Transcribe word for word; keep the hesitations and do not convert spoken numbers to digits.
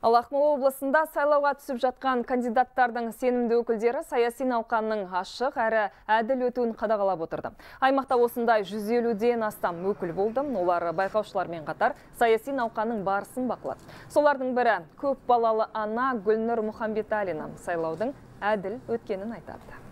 Ал Ақмола облысында сайлауға түсіп жатқан кандидаттардың сенімді өкілдері саяси науқанның ашық әрі әділ өтуін қадағалап отырды. Аймақта осындай жүз елуден астам өкіл болды. Олар байқаушылармен қатар саяси науқанның барысын бақылады. Солардың бірі көп балалы ана Гүлнұр Мұхамбеталина сайлаудың әділ өткенін айтады.